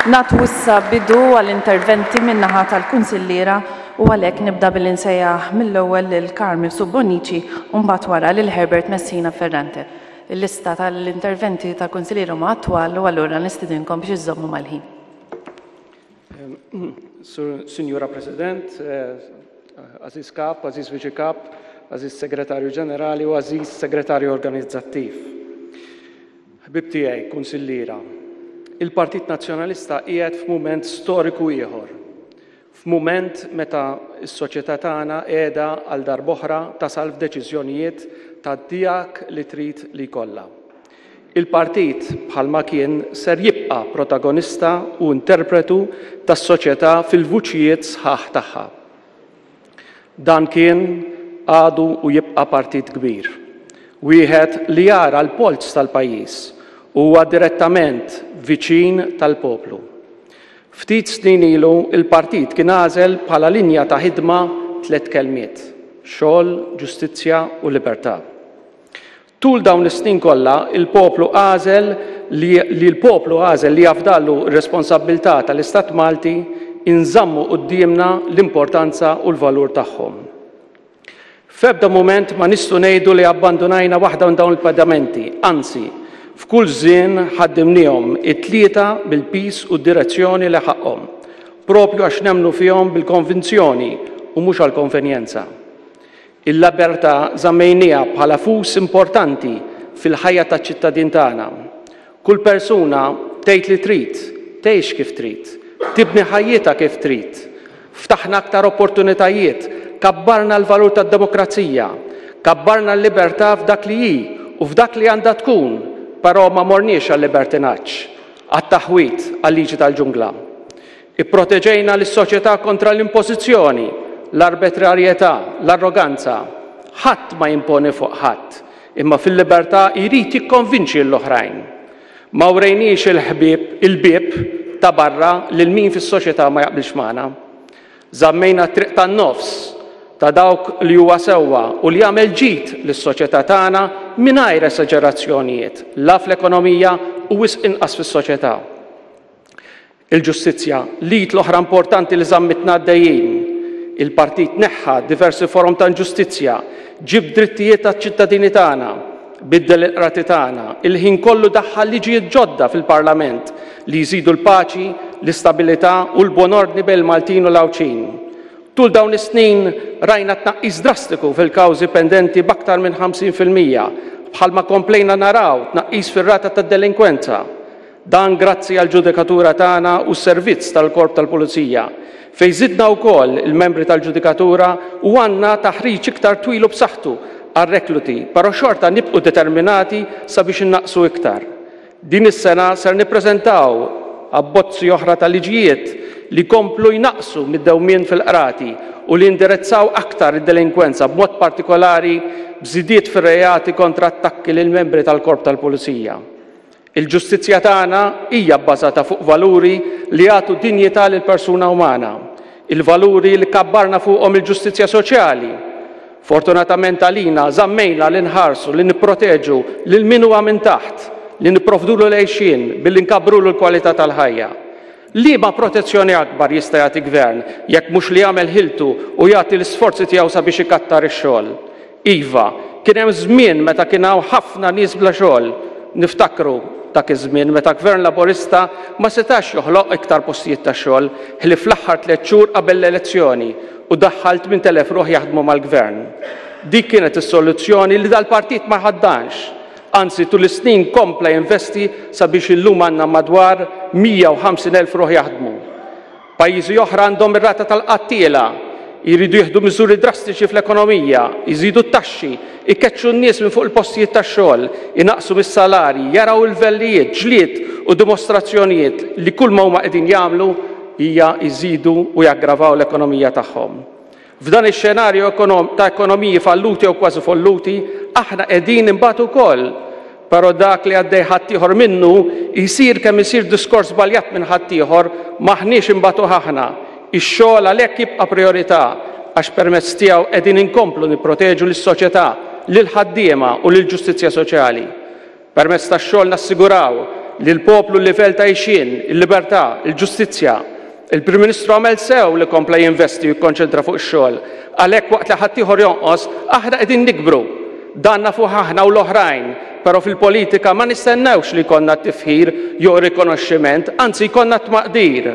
Nagħtu issa bidu għall-interventi min-naħa tal-kunsilliera u għalhekk nibda billi nsejjaħ mill-ewwel lil Carmel Subbonici u mbagħad wara lil Herbert Messina Ferrante. Il-lista tal-interventi tal-kunsilliera huma attwal u allura nistidinkom biex iżżommu mal-ħin. Sinjura President, Għażiż Kap, Għażiż Viċi Kap, Għażiż Segretarju Ġenerali u Għażiż Segretarju Organizzattiv. Ħbieb tiegħi, kunsilliera, il-Partit Nazzjonalista qiegħed f'mument storiku ieħor. F'mument meta s-soċjetà tagħna qiegħda għal darb'oħra tasal f'deċiżjonijiet ta' dak li trid li jkollha. Il-partit, bħalma kien, ser jibqa' protagonista u interpretu tas-soċjetà fil-vuċijiet sħaħ tagħha. Dan kien, għadu u jibqa' partit kbir. Wieħed li jara l-polz tal-pajjiż u huwa direttament viċin tal-poplu. Ftit snin ilu l-partit kien għażel bħala linja ta' ħidma tlett kelmiet, xogħol, ġustizzja u libertà. Tul dawn is-snin kollha, il-poplu għażel li li l-poplu għażel li jafdalu r-responsabbiltà tal-Istat Malti inżammu quddiemna l-importanza u l-valur tagħhom. F'ebda mument ma nistgħu ngħidu li abbandunajna waħda minn dawn il-pedamenti, anzi, f'kull żien ħaddimniehom it-tlieta bil-piż u d-direzzjoni li ħaqqhom, proprju għax nemmnu fihom bil-konvinzjoni u mhux għall-konvenjenza. Il-libertà żammejnieha bħala fus importanti fil-ħajja taċ-ċittadin tagħna. Kull persuna tgħid li trid, tgħix kif trid, tibni ħajjitha kif trid. Ftaħna aktar opportunitajiet, kabbarna l-valur tad-demokrazija, kabbarna l-libertà f'dak li hi u f'dak li għandha tkun, però ma morniex għal-libertinaġġ, għat-taħwid, għal-liġi tal-ġungla. Ipproteġejna lis-soċjetà kontra l-impożizzjoni, l-arbitrarjetà, l-arroganza. Ħadd ma jimponi fuq ħadd, imma fil-libertà jrid jikkonvinċi lill-oħrajn. Ma wrejniex il-ħbieb, il-bieb ta' barra lil min fis-soċjetà ma jaqbilx magħna. Żammejna t-triq tan-nofs ta' dawk li huwa sewwa u li jagħmel ġid lis-soċjetà tagħna mingħajr esaġerazzjonijiet, la fl-ekonomija u wisq inqas fis-soċjetà. Il-ġustizzja, l-id l-oħra importanti li żammitna għaddejjin. Il-partit neħħa diversi forom ta' inġustizzja, ġieb drittijiet għaċ-ċittadini tagħna, biddel il-qrati tagħna, il-ħin kollu daħħal liġijiet ġodda fil-Parlament li jżidu l-paċi, l-istabilità u l-buon ordni bejn il-Maltin u l-Għawdxin. Tul dawn is-snin rajna tnaqqis drastiku fil-kawżi pendenti b'aktar minn 50%, bħalma komplejna naraw tnaqqis fir-rata tad-delinkwenza. Dan grazzi għall-ġudikatura tagħna u s-servizz tal-Korp tal-Pulizija, fejn żidna wkoll il-membri tal-ġudikatura u għandna taħriġ iktar twil u b'saħħtu għar-rekluti, però xorta nibqu determinati sabiex innaqqsu iktar. Din is-sena ser nippreżentaw abbozzi oħra ta' liġijiet li jkomplu jnaqqsu mid-dewmien fil-qrati u li jindirezzaw aktar id-delinkwenza b'mod partikolari b'żidiet fir-reati kontra attakki lil membri tal-Korp tal-Pulizija. Il-ġustizzja tagħna hija bbażata fuq valuri li jagħtu dinjità lill-persuna umana, il-valuri li kabbarna fuqhom il-ġustizzja soċjali. Fortunatament għalina, żammejna li nħarsu, li nipproteġu lil min huwa minn taħt, li nipprovdulu l-għixien billi nkabbrulu l-kwalità tal-ħajja. Liema protezzjoni akbar jista' jagħti gvern jekk mhux li jagħmel ħiltu u jagħti l-isforzi tiegħu sabiex ikattar ix-xogħol? Iva, kien hemm żmien meta kien hawn ħafna nies bla xogħol. Niftakru dak iż-żmien meta Gvern Laburista ma setax joħloq iktar postijiet ta' xogħol ħlief fl-aħħar tlett xhur qabel l-elezzjoni u daħħal 8,000 ruħ jaħdmu mal-Gvern. Dik kienet is-soluzzjoni li dal-partit ma jħaddanx. Anzi, tul is-snin kompla jinvesti sabiex illum għandna madwar 150,000 ruħ jaħdmu. Pajjiżi oħra għandhom ir-rata tal-qgħad tielgħa, jridu jieħdu miżuri drastiċi fl-ekonomija, jżidu t-taxxi, ikeċċu n-nies minn fuq il-postijiet tax-xogħol, inaqqsu mis-salarji, jaraw il-vellijiet, ġlied u dimostrazzjonijiet li kulma huma qegħdin jagħmlu hija jżidu u jaggravaw l-ekonomija tagħhom. F'dan ix-xenarju ta' ekonomiji falluti jew kważi folluti, aħna qegħdin inbatu wkoll. Però dak li għaddej ħaddieħor minnu, jsir kemm isir diskors żbaljat minn ħaddieħor, m'aħniex inbatuh aħna. Ix-xogħol għalhekk jibqa' prijorità għax permezz tiegħu qegħdin inkomplu nipproteġu lis-soċjetà, lill-ħaddiema u lill-ġustizzja soċjali. Permezz tax-xogħol nassiguraw lill-poplu l-livell ta' għixien, il-libertà, il-ġustizzja. Il-Prim Ministru għamel sew li kompla jinvesti u jikkonċentra fuq ix-xogħol. Għalhekk waqt li ħaddieħor jonqos, aħna qegħdin nikbru. Dan nafuh aħna u l-oħrajn, però fil-politika ma nistennewx li jkollna t-tifħir jew rikonoxximent, anzi jkollna t-tmaqdir.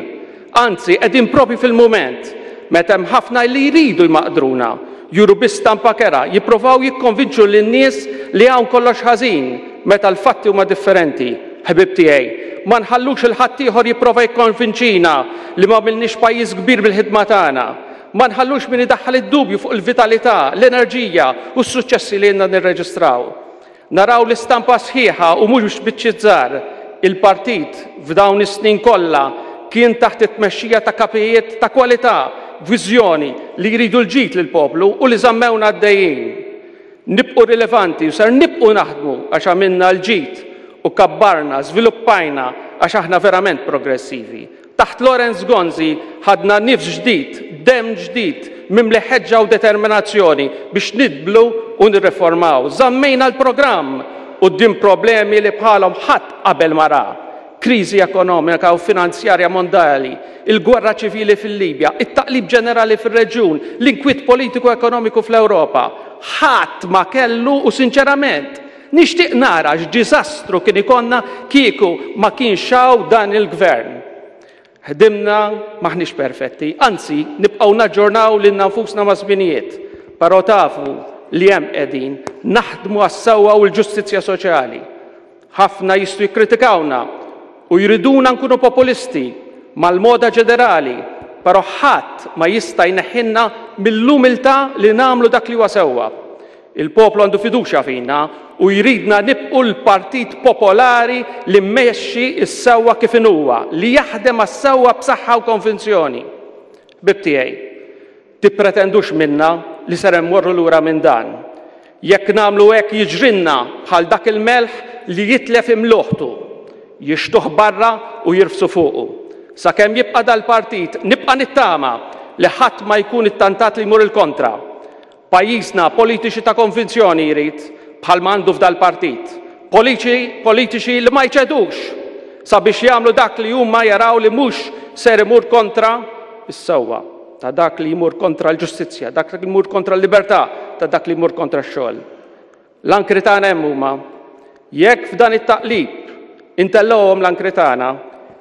Anzi, qegħdin proprju fil-mument meta hemm ħafna li jridu jmaqdruna, juru biss stampa kerha, jipprovaw jikkonvinċu lin-nies li hawn kollox ħażin, meta l-fatti huma differenti. Ħbieb tiegħi, ma nħallux 'il ħaddieħor jipprova jikkonvinċina li m'għamilniex pajjiż kbir bil-ħidma tagħna. Ma nħallux min idaħħal id-dubju fuq il-vitalità, l-enerġija u s-suċċessi li ilna nirreġistraw. Naraw l-istampa sħiħa u mhux biċċiet żgħar. Il-partit, f'dawn is-snin kollha, kien taħt it-tmexxija ta' kapijiet ta' kwalità, b'viżjoni, li jridu l-ġid lill-poplu u li żammewna għaddejjin. Nibqgħu rilevanti u ser nibqgħu naħdmu għax għamilna l-ġid u kabbarna, żviluppajna għax aħna verament progressivi. Taħt Lawrence Gonzi ħadna nifs ġdid, demm ġdid, mimli ħeġġa u determinazzjoni biex nidblu u nirriformaw. Żammejna l-programm quddiem problemi li bħalhom ħadd qabel ma ra. Kriżi ekonomika u finanzjarja mondali, il-gwerra ċivili fil-Libja, it-taqlib ġenerali fir-reġjun, l-inkwiet politiku ekonomiku fl-Ewropa. Ħadd ma kellu u sinċerament, Nixtieq nara x'diżastru kien ikollna kieku ma kienx hawn dan il-Gvern. Ħdimna, m'aħniex perfetti, anzi nibqgħu naġġornaw lilna nfusna maż-żminijiet, però tafu li hemm qegħdin, naħdmu għas-sewwa u l-ġustizzja soċjali. Ħafna jistgħu jikkritikawna u jriduna nkunu populisti mal-moda ġenerali, però ħadd ma jista' jneħħilna mill-umiltà li nagħmlu dak li huwa sewwa. Il-poplu għandu fiduċja fina u jridna nibqu l-partit popolari li mmexxi s-sewwa kif inhuwa, li jaħdem għas-sewwa b'saħħa u konvinzjoni. Ħbieb tiegħi, tippretendux minna li ser immorru lura minn dan. Jekk nagħmlu hekk jiġrilna bħal dak il-melħ li jitlef imluħtu, jixtuh barra u jirfsu fuqu. Sakemm jibqa' dal-partit nibqa' nittama li ħadd ma jkun ittantat li jmur il-kontra. Pajjiżna politiċi ta' konvinzjoni jrid, bħalma għandu f'dal-partit. Politiċi, politiċi li ma jċedux sabiex jagħmlu dak li huma jaraw li mhux ser imur kontra s-sewwa, ta' dak li jmur kontra l-ġustizzja, dak li jmur kontra l-libertà, ta' dak li jmur kontra x-xogħol. L-ankri tagħna hemm huma. Jekk f'dan it-taqlib intellgħuhom l-ankri tagħna,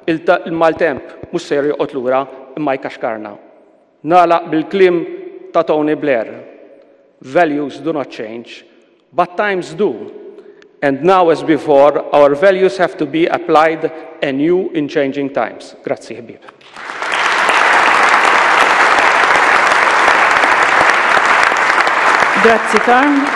il-maltemp mhux ser joqgħod lura imma jkaxkarna. Nagħlaq bil-kliem ta' Tony Blair, Values do not change, but times do. And now as before, our values have to be applied anew in changing times. Grazzi ħbieb. Grazzi Karm.